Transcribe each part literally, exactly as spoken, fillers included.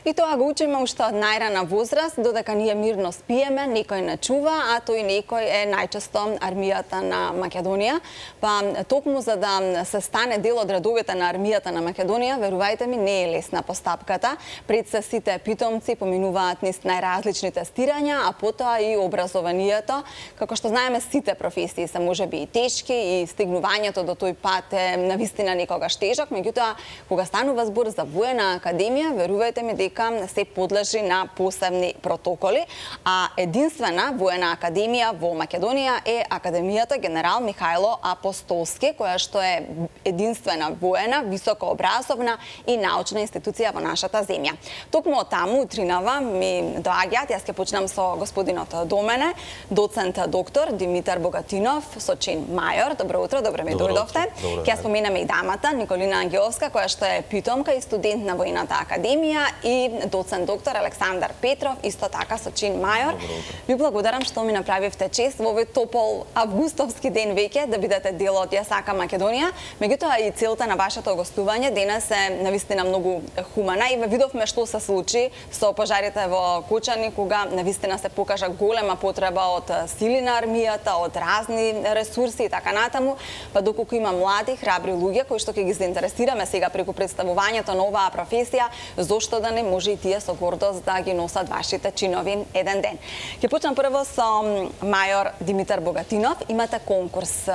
И тоа го учиме уште од најрана возраст, додека ние мирно спиеме, некој не чува, а тој некој е најчесто армијата на Македонија. Па токму за да се стане дел од редовите на армијата на Македонија, верувајте ми, не е лесна постапката. Пред се сите питомци поминуваат низ најразлични тестирања, а потоа и образованието. Како што знаеме, сите професии се можеби и тешки и стигнувањето до тој пат е навистина некогаш тежок, меѓутоа кога станува збор за воена академија, верувајте ми дека се подлежи на посебни протоколи, а единствена воена академија во Македонија е Академијата Генерал Михајло Апостолски, која што е единствена воена, високообразовна и научна институција во нашата земја. Токму од таму утринава ми доаѓаат, јас ќе почнам со господинот до мене, доцент доктор Димитар Богатинов, со чин мајор. Добро утро, добро ми дојдовте. Ќе споменеме и дамата Николина Ангеловска, која што е питомка и студент на Воената академија, и доцент доктор Александар Петров, исто така со чин мајор. Ви благодарам што ми направивте чест во овој топол августовски ден веќе да бидете дел од Ја сакам Македонија. Меѓутоа и целта на вашето гостување денес е навистина многу хумана и видовме што се случи со пожарите во Кочани, кога навистина се покажа голема потреба од сили на армијата, од разни ресурси и така натаму, па доколку има млади, храбри луѓе кои што ќе ги заинтересираме сега преку представувањето на оваа професија, зошто да не може и тие со гордост да ги носат вашите чинови еден ден. Ќе почнам прво со мајор Димитар Богатинов. Имате конкурс,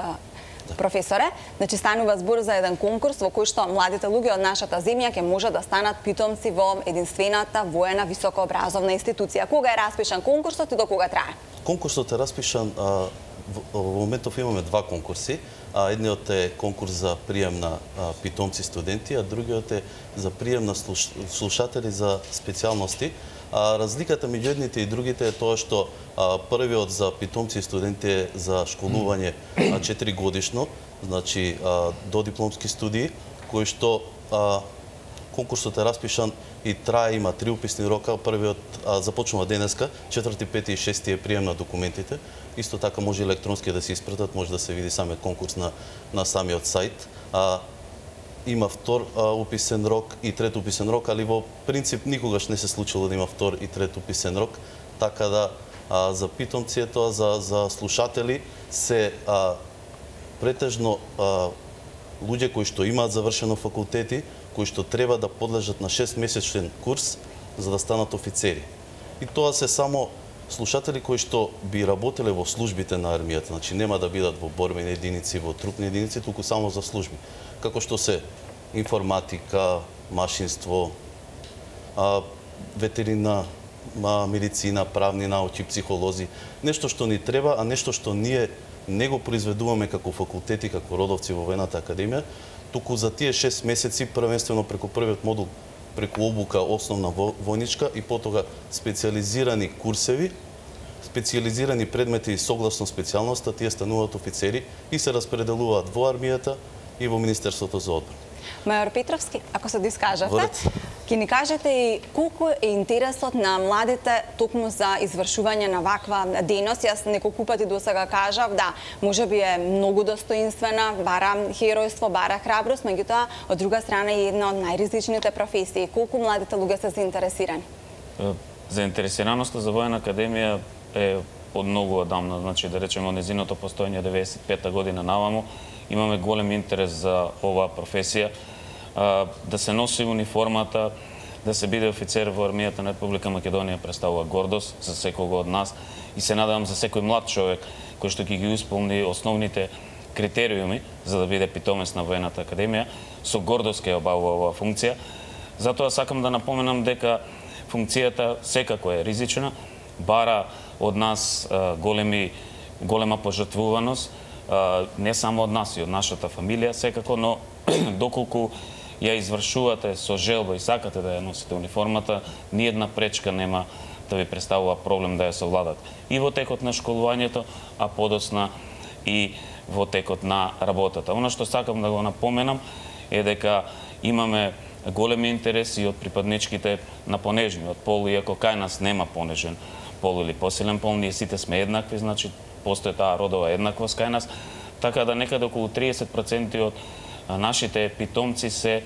професоре. Значи станува збор за еден конкурс во кој што младите луѓе од нашата земја ќе може да станат питомци во единствената воена високообразовна институција. Кога е распишан конкурсот и до кога трае? Конкурсот е распишан, а, во моментов имаме два конкурси. А, едниот е конкурс за прием на а, питомци студенти, а другиот е за прием на слуш... слушатели за специјалности. А, разликата меѓу едните и другите е тоа што а, првиот за питомци и студенти е за школување а, четири годишно, значи а, до дипломски студии, кои што а, конкурсот е распишан и трае, има три уписни рока. Првиот а, започнува денеска, четврти, пети и шести е прием на документите. Исто така може електронски да се испратат, може да се види самиот конкурс на, на самиот сајт. А, има втор а, уписен рок и трет уписен рок, али во принцип никогаш не се случило да има втор и трет уписен рок, така да а, за питомци е тоа, за, за слушатели се а, претежно а, луѓе кои што имаат завршено факултети, кои што треба да подлежат на шестмесечен курс за да станат офицери. И тоа се само слушатели кои што би работеле во службите на армијата, значи нема да бидат во борбени единици, во трупни единици, туку само за служби. Како што се информатика, машинство, а, ветерина, а, медицина, правни науки, психолози, нешто што ни треба, а нешто што ние не го произведуваме како факултети, како родовци во Воената академија, туку за тие шест месеци првенствено преку првиот модул, преку обука основна војничка и потога специјализирани курсеви, специјализирани предмети согласно специјалноста, тие стануваат офицери и се распределуваат во армијата и во Министерството за одбрана. Мајор Петровски, ако се дискажавте, ќе ни кажете и колку е интересот на младите токму за извршување на ваква дејност. Јас неколку пати досега кажав, да, можеби е многу достоинствена, бара херојство, бара храброст, меѓутоа од друга страна е една од најризичните професии. Колку младите луѓе се заинтересирани? Заинтересираноста за Воена академија е од многу одамна, значи да речеме од незиното постоење деветдесет и пета година наваму. Имаме голем интерес за оваа професија, да се носи униформата, да се биде офицер во армијата на Република Македонија представува гордост за секого од нас и се надевам за секој млад човек кој што ќе ги исполни основните критериуми за да биде питомец на Воената академија, со гордост ќе обавува оваа функција. Затоа сакам да напоменам дека функцијата секако е ризична, бара од нас големи голема пожртвуваност, не само од нас и од нашата фамилија секако, но доколку ја извршувате со желба и сакате да ја носите униформата, ниедна пречка нема да ви представува проблем да ја совладате. И во текот на школувањето, а подоцна и во текот на работата. Она што сакам да го напоменам е дека имаме големи интереси од припадничките на понежниот пол, иако кај нас нема понежен пол или посилен пол, ние сите сме еднакви, значи постои таа родова еднаквост кај нас, така да некаде околу триесет проценти од нашите питомци се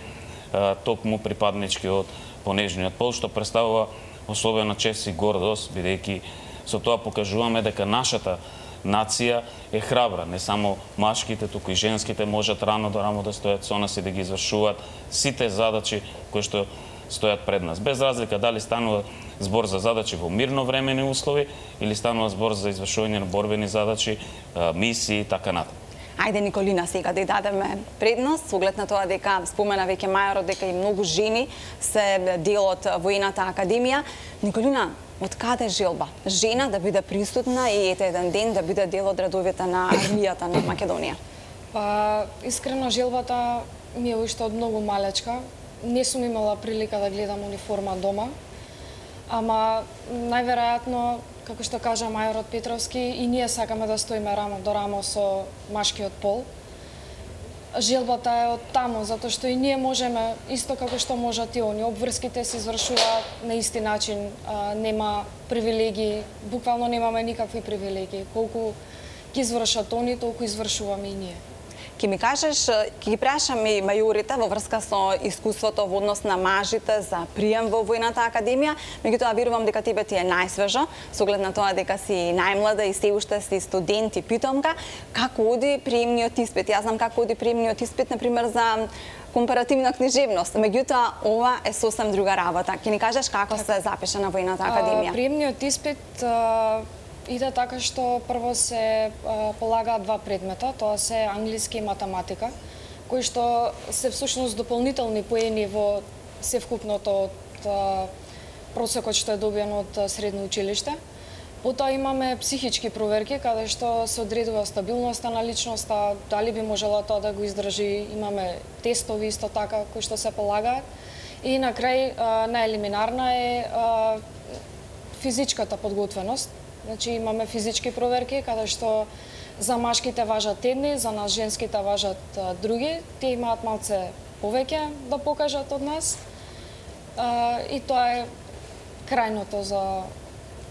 токму припаднички од понежниот пол, што представува особена чест и гордост, бидејќи со тоа покажуваме дека нашата нација е храбра, не само машките, туку и женските можат рамо до рамо да стојат со нас и да ги извршуваат сите задачи кои што стојат пред нас. Без разлика дали станува збор за задачи во мирновремени услови или станува збор за извршување на борбени задачи, мисии и така натаму. Ајде, Николина, сега да ја дадеме предност, со оглед на тоа дека спомена веќе мајорот дека и многу жени се дел од воената академија. Николина, од каде желба жена да биде присутна и ете еден ден да биде дел од редовите на армијата на Македонија? Па, искрено желбата ми е уште од многу малечка. Не сум имала прилика да гледам униформа дома, ама најверојатно, како што кажа мајорот Петровски, и ние сакаме да стоиме рамо до рамо со машкиот пол. Желбата е од таму, затоа што и ние можеме, исто како што можат и они, обврските се извршуваат на исти начин, а, нема привилегии, буквално немаме никакви привилегии. Колку ги извршат они, толку извршуваме и ние. Ке ми кажеш, ќе ги прашам и мајорите во врска со искуството во однос на мажите за прием во војната академија, меѓутоа верувам дека тебе ти е најсвежо, со оглед на тоа дека си најмлада и се уште си студент и питомка, како оди приемниот испит? Јас знам како оди приемниот испит, например, за компаративна книжевност, меѓутоа ова е сосем друга работа. Ќе ни кажеш како се запиша на војната академија? Приемниот испит иде така што прво се а, полагаат два предмета, тоа се англиски и математика, кои што се всушност дополнителни поени во севкупното од а, просекот што е добиен од средно училиште. Потоа имаме психички проверки, каде што се одредува стабилноста на личноста, дали би можела тоа да го издржи, имаме тестови исто така кои што се полагаат. И на крај а, најелиминарна е а, физичката подготвеност. Значи имаме физички проверки, каде што за машките важат едни, за нас женските важат а, други. Тие имаат малце повеќе да покажат од нас. А, и тоа е крајното за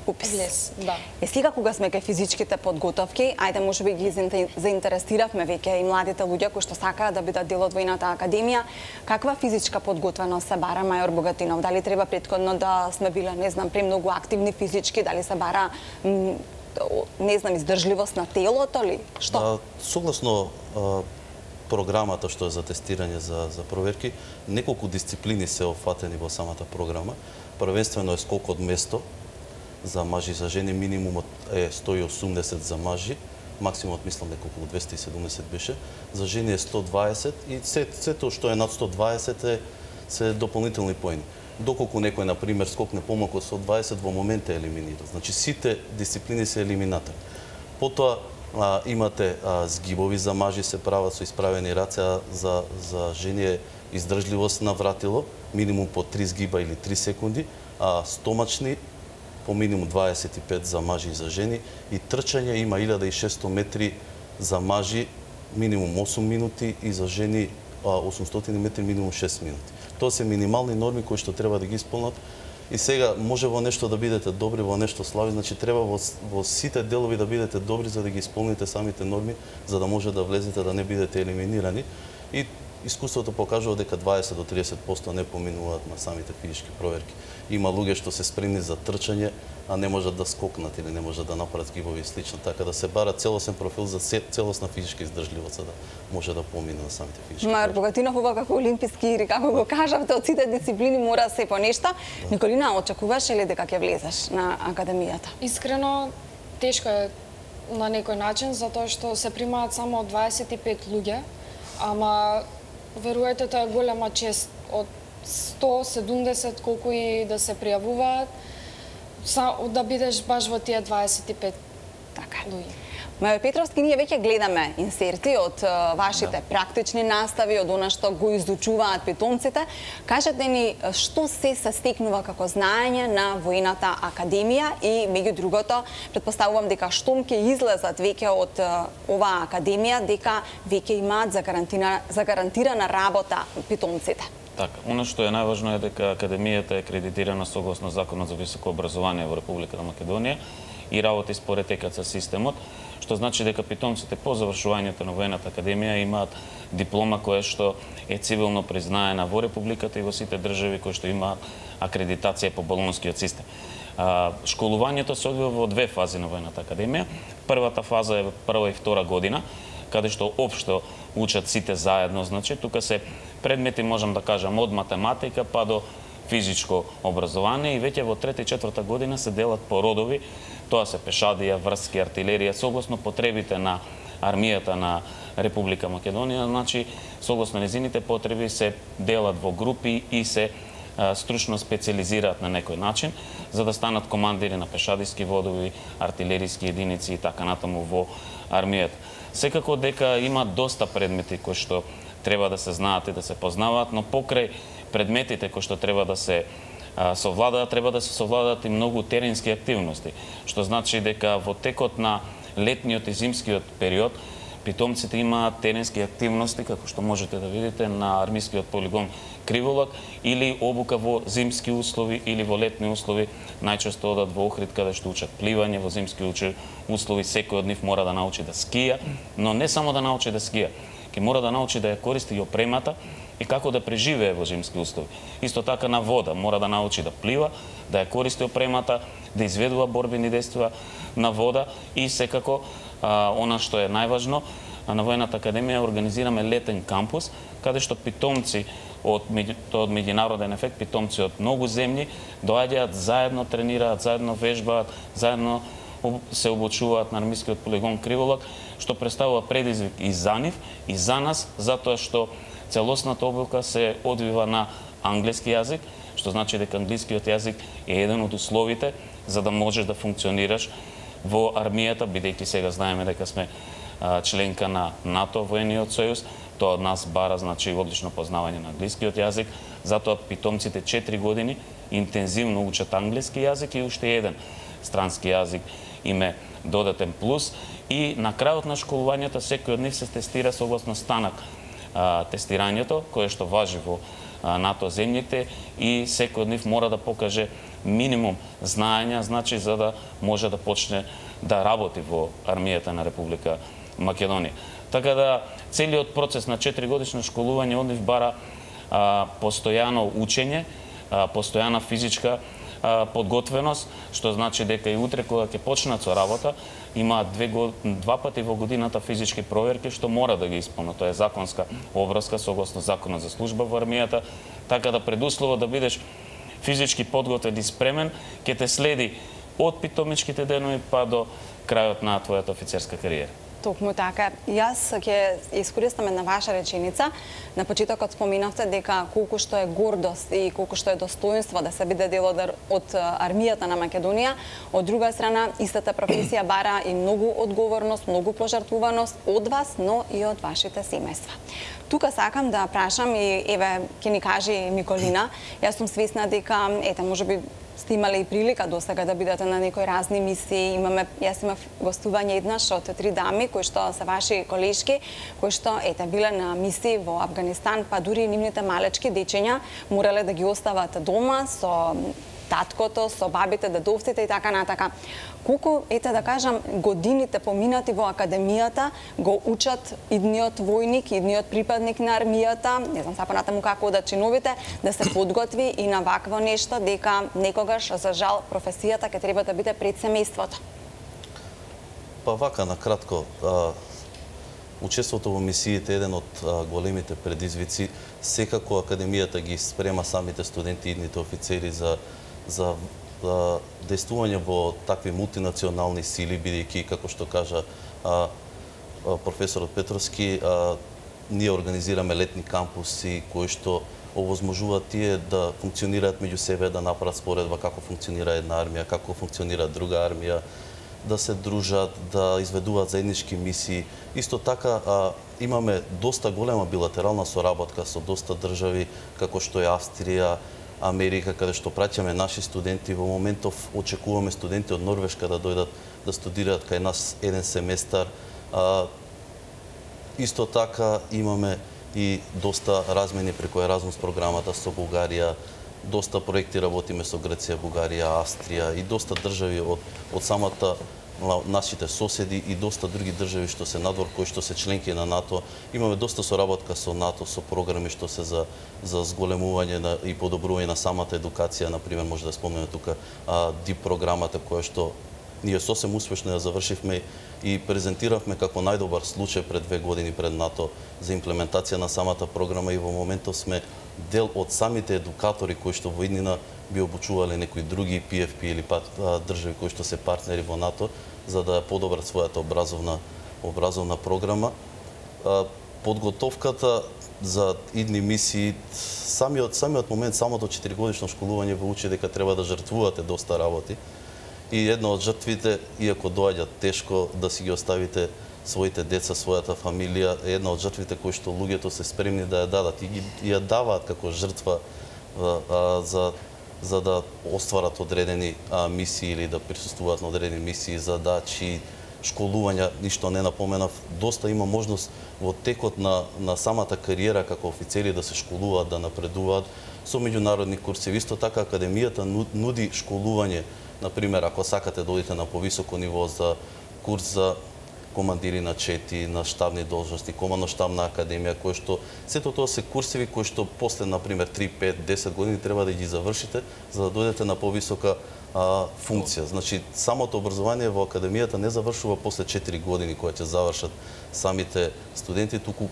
упис. Влез, да. Е сега кога сме кај физичките подготовки, ајде можеби ги заинтересиравме веќе и младите луѓе кои што сакаат да бидат дел од војната академија. Каква физичка подготвеност се бара, мајор Богатинов? Дали треба претходно да сме биле, не знам, премногу активни физички, дали се бара не знам, издржливост на телото ли? Што? А, согласно а, програмата што е за тестирање за за проверки, неколку дисциплини се офатени во самата програма. Првенствено е скок од место, за мажи и за жени, минимумот е сто и осумдесет за мажи, максимумот мислам дека околу двесте и седумдесет беше, за жени е сто дваесет и се, сето што е над сто дваесет е се дополнителни поени. Доколку некој на пример скокне помалку од сто дваесет, во момент е елиминиран. Значи сите дисциплини се елиминатори. Потоа а, имате а, згибови за мажи се прават со исправени раце, а за за жени е издржливост на вратило, минимум по три згиба или три секунди, а стомачни по минимум дваесет и пет за мажи и за жени, и трчање има илјада и шесто метри за мажи, минимум осум минути, и за жени осумстотини метри, минимум шест минути. Тоа се минимални норми кои што треба да ги исполнат. И сега може во нешто да бидете добри, во нешто слаби, значи треба во, во сите делови да бидете добри за да ги исполните самите норми, за да може да влезете, да не бидете елиминирани. И искуството покажува дека дваесет до триесет проценти не поминуваат на самите физички проверки. Има луѓе што се спремни за трчање, а не можат да скокнат или не можат да направат згибови и слично. Така да се бара целосен профил за целосна физичка издржливост, за да може да помине на самите физички проверки. Мајор Богатинов, ова како олимписки игри, како го кажавте, од сите дисциплини мора се по нешто. Николина, очекуваш ли дека ќе влезеш на академијата? Искрено, тешко е на некој начин, затоа што се примаат само дваесет и пет луѓе, ама веруете, тоа е голема чест од сто седумдесет колку и да се пријавуваат, да бидеш баш во тие дваесет и пет така луѓе. Мајор Петровски, ние веќе гледаме инсерти од вашите да. практични настави, од она што го изучуваат питомците. Кажете ни што се се стекнува како знаење на војната академија и меѓу другото, претпоставувам дека штом ќе излезат веќе од оваа академија, дека веќе имаат загарантирана, загарантирана работа питомците. Така, оно што е најважно е дека академијата е акредитирана согласно Законот за високо образование во Република Македонија и работи според ЕКЦ системот, што што значи дека питомците по завршувањето на воената академија имаат диплома која што е цивилно признаена во републиката и во сите држави кои што имаат акредитација по болонскиот систем. А, школувањето се одвива во две фази на воената академија. Првата фаза е прва и втора година, каде што општо учат сите заедно, значи тука се предмети, можам да кажам, од математика па до физичко образование, и веќе во трета и четврта година се делат по родови, тоа се пешадија, врски, артилерија, согласно потребите на армијата на Република Македонија, значи согласно незините потреби се делат во групи и се а, стручно специализираат на некој начин, за да станат командири на пешадиски водови, артилериски единици и така натаму во армијата. Секако дека има доста предмети кои што треба да се знаат и да се познаваат, но покрај предметите кои што треба да се а, совладаат, треба да се совладаат и многу теренски активности, што значи дека во текот на летниот и зимскиот период питомците имаат теренски активности, како што можете да видите на армискиот полигон Криволак, или обука во зимски услови или во летни услови, најчесто одат во Охрид каде што учат пливање, во зимски услови секој од нив мора да научи да скија, но не само да научи да скија, ќе мора да научи да ја користи и опремата и како да преживее во зимски услови. Исто така на вода мора да научи да плива, да ја користи опремата, да изведува борбени действија на вода и секако а, она што е најважно, на Воената академија организираме летен кампус, каде што питомци од, од меѓународен ефект, питомци од многу земји доаѓаат, заедно тренираат, заедно вежбаат, заедно се обучуваат на армискиот полигон Криволак, што представува предизвик и за нив, и за нас, затоа што целосната обука се одвива на англиски јазик, што значи дека англискиот јазик е еден од условите за да можеш да функционираш во армијата, бидејќи сега знаеме дека сме а, членка на НАТО, воениот сојуз, тоа од нас бара значи одлично познавање на англискиот јазик, затоа питомците четири години интензивно учат англиски јазик и уште еден странски јазик им е додатен плюс, и на крајот на школувањето секој од нив се тестира согласно станак а, тестирањето, кое што важи во а, НАТО земјите, и секој од нив мора да покаже минимум знаења, значи за да може да почне да работи во армијата на Република Македонија. Така да целиот процес на четири годишно школување од нив бара а, постојано учење, а, постојана физичка а, подготвеност, што значи дека и утре кога ќе почнат со работа, има две, два пати во годината физички проверки што мора да ги исполнат. Тоа е законска обврска согласно законот за служба во армијата, така да предуслово да бидеш физички подготвен и спремен, ќе те следи од питомичките денови па до крајот на твојата офицерска кариера. Токму така. Јас ќе искористам една ваша реченица. На почетокот споминавте дека колку што е гордост и колку што е достоинство да се биде дел од армијата на Македонија, од друга страна истата професија бара и многу одговорност, многу пожртвуваност од вас, но и од вашите семејства. Тука сакам да прашам и еве ќе ни каже Николина. Јас сум свесна дека ете можеби сте имале и прилика до сега да бидете на некои разни мисии. Имаме, јас имав гостување еднаш од три дами кои што се ваши колешки, кои што ете биле на мисии во Авганистан, па дури нивните малечки дечења морале да ги остават дома со таткото, со бабите, дедовците и така натака. Колку, ете да кажам, годините поминати во академијата го учат идниот војник, идниот припадник на армијата, не знам сапа натаму како да чиновите, да се подготви и на вакво нешто, дека некогаш, за жал, професијата ќе треба да биде пред семејството. Па вака, на кратко, а, учеството во мисиите е еден од а, големите предизвици. Секако академијата ги спрема самите студенти и идните офицери за за действување во такви мултинационални сили, бидејќи, како што кажа а, а, професорот Петровски, а, ние организираме летни кампуси кои што овозможуваат тие да функционираат меѓу себе, да направат споредба како функционира една армија, како функционира друга армија, да се дружат, да изведуваат заеднички мисии. Исто така а, имаме доста голема билатерална соработка со доста држави, како што е Австрија, Америка, каде што праќаме наши студенти. Во моментов очекуваме студенти од Норвешка да дојдат да студираат кај нас еден семестар. А, исто така имаме и доста размени преку Еразмус програмата со Бугарија, доста проекти работиме со Грција, Бугарија, Австрија и доста држави од, од самата нашите соседи и доста други држави што се надвор, кои што се членки на НАТО. Имаме доста соработка со НАТО, со програми што се за за зголемување на и подобрување на самата едукација, на пример може да спомнеме тука ди програмата која што ние сосем успешно ја завршивме и презентиравме како најдобар случај пред две години пред НАТО за имплементација на самата програма и во моментов сме дел од самите едукатори кои што во иднина би обучувале некои други пи еф пи или па држави кои што се партнери во НАТО за да подобрат својата образовна образовна програма. Подготовката за идни мисии, самиот самиот момент, самото четиригодишно школување ве учи дека треба да жртвувате доста работи. И една од жртвите, иако доаѓа тешко да си ги оставите своите деца, својата фамилија, е една од жртвите кои што луѓето се спремни да ја дадат и ги ја даваат како жртва а, а, за за да остварат одредени а, мисии или да присуствуваат на одредени мисии, задачи, школувања, ништо не напоменав. Доста има можност во текот на на самата кариера како офицери да се школуваат, да напредуваат со меѓународни курси. Исто така академијата нуди школување. Например, ако сакате да одите на повисоко ниво за курс за командири на чети, на штабни должности, командно-штабна академија, кои што сето тоа се курсеви кои што после, например, три, пет, десет години треба да ги завршите за да дојдете на повисока а, функција. Значи, самото образование во академијата не завршува после четири години кои ќе завршат самите студенти, туку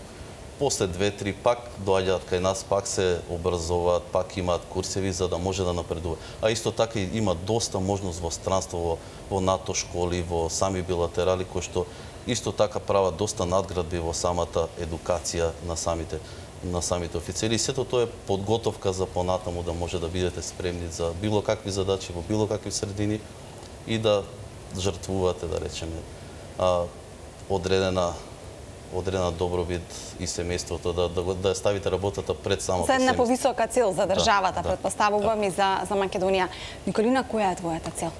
после две-три пак доаѓаат кај нас, пак се образуваат, пак имаат курсеви за да може да напредува. А исто така има доста можност во странство, во, во НАТО школи, во сами билатерали, кои што исто така прават доста надградби во самата едукација на самите на самите офицери. И сето тоа е подготовка за понатаму да може да бидете спремни за било какви задачи во било какви средини и да жртвувате, да речеме, а, одредена одредена добробит и семејството, да, да, да ја ставите работата пред самото семејство. За една семејство. повисока цел за државата, да, предпоставувам да. и за, за Македонија. Николина, која е твојата цел?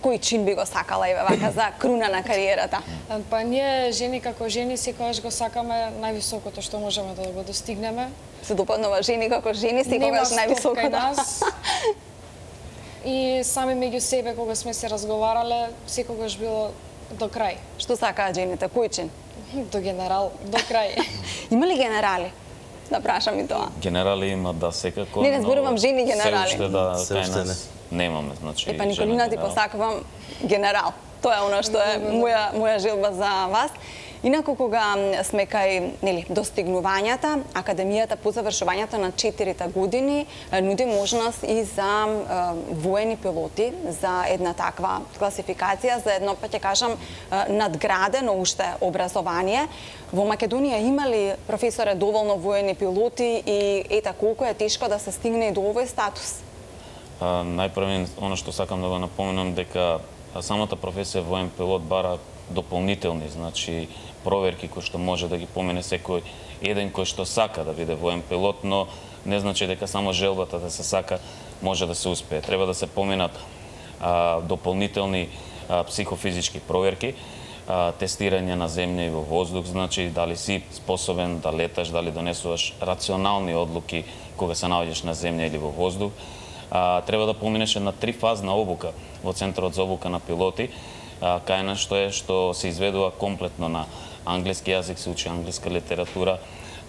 Кој чин би го сакала, еве вака, за круна на кариерата? Па ние, жени како жени, секогаш го сакаме највисокото што можеме да го достигнеме. Се допаднува жени како жени, секогаш највисоко. Нема нас. И сами меѓу себе, кога сме се разговарале, секогаш било до крај. Што сакаат жените? Кој чин? До генерал, до крај. Има ли генерали? Да прашам и тоа. Генерали има, да, секако. Не, не зборувам жени генерали. Се уште да, Се кај уште нас немаме, значи. Е, па Николина, ти посакувам генерал. Тоа е оно што е моја, моја желба за вас. Инаку, кога сме кај нели, достигнувањата, Академијата по завршувањето на четирите години нуди можност и за е, воени пилоти, за една таква класификација, за едно, па ќе кажам, надградено уште образование. Во Македонија има ли, професоре, доволно воени пилоти и ета колку е тешко да се стигне и до овој статус? А, најпрво, оно што сакам да го напоменам, дека самата професија воен пилот бара дополнителни, значи проверки кои што може да ги помене секој еден кој што сака да биде воен пилот, но не значи дека само желбата да се сака може да се успее. Треба да се поменат а, дополнителни а, психофизички проверки, а, тестирање на земја и во воздух, значи дали си способен да леташ, дали донесуваш рационални одлуки кога се наоѓаш на земја или во воздух. А, треба да поминеш една трифазна обука во Центарот за обука на пилоти, а, кај нас што е што се изведува комплетно на англиски јазик, се учи англиска литература,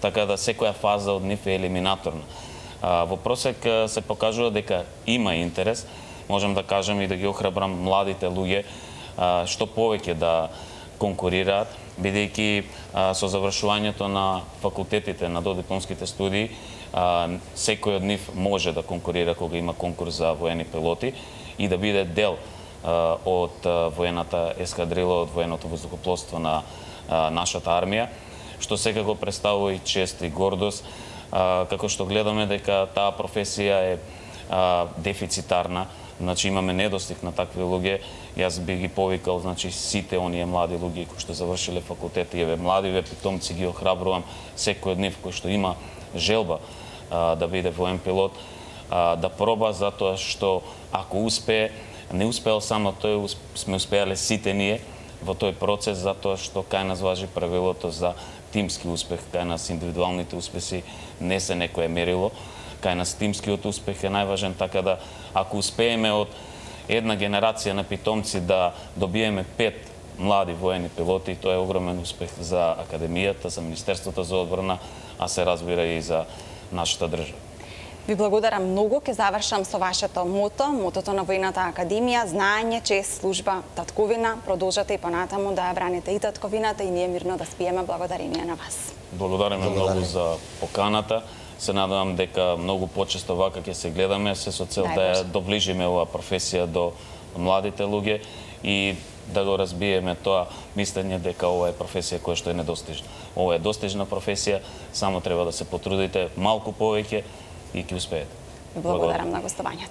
така да секоја фаза од нив е елиминаторна. А, во просек се покажува дека има интерес, можам да кажам и да ги охрабрам младите луѓе а, што повеќе да конкурираат, бидејќи а, со завршувањето на факултетите, на додипломските студии, а, секој од нив може да конкурира кога има конкурс за воени пилоти и да биде дел а, од а, воената ескадрила, од военото воздухопловство на а, нашата армија, што секако представува и чест и гордост, а, како што гледаме дека таа професија е а, дефицитарна. Значи имаме недостиг на такви луѓе. Јас би ги повикал, значи сите оние млади луѓе кои што завршиле факултет и еве младиве питомци ги охрабрувам, секој од нив кој што има желба а, да биде воен пилот, а, да проба, затоа што ако успее, не успеал само тој, сме успеале сите ние во тој процес, затоа што кај нас важи правилото за тимски успех, кај нас индивидуалните успеси не се некое мерило. Кај нас тимскиот успех е најважен, така да ако успееме од една генерација на питомци да добиеме пет млади воени пилоти, тоа е огромен успех за Академијата, за Министерството за одбрана, а се разбира и за нашата држава. Ви благодарам многу. Ке завршам со вашето мото, мотото на Војната академија, знаење, чест, служба, татковина. Продолжате и понатаму да ја браните и татковината и ние мирно да спиеме благодарение на вас. Благодариме многу за поканата. Се надевам дека многу почесто вака ќе се гледаме, се со цел да ја доближиме оваа професија до младите луѓе и да го разбиеме тоа мислење дека ова е професија која што е недостижна. Ова е достижна професија, само треба да се потрудите малку повеќе и ќе успеете. Благодарам на гостувањето.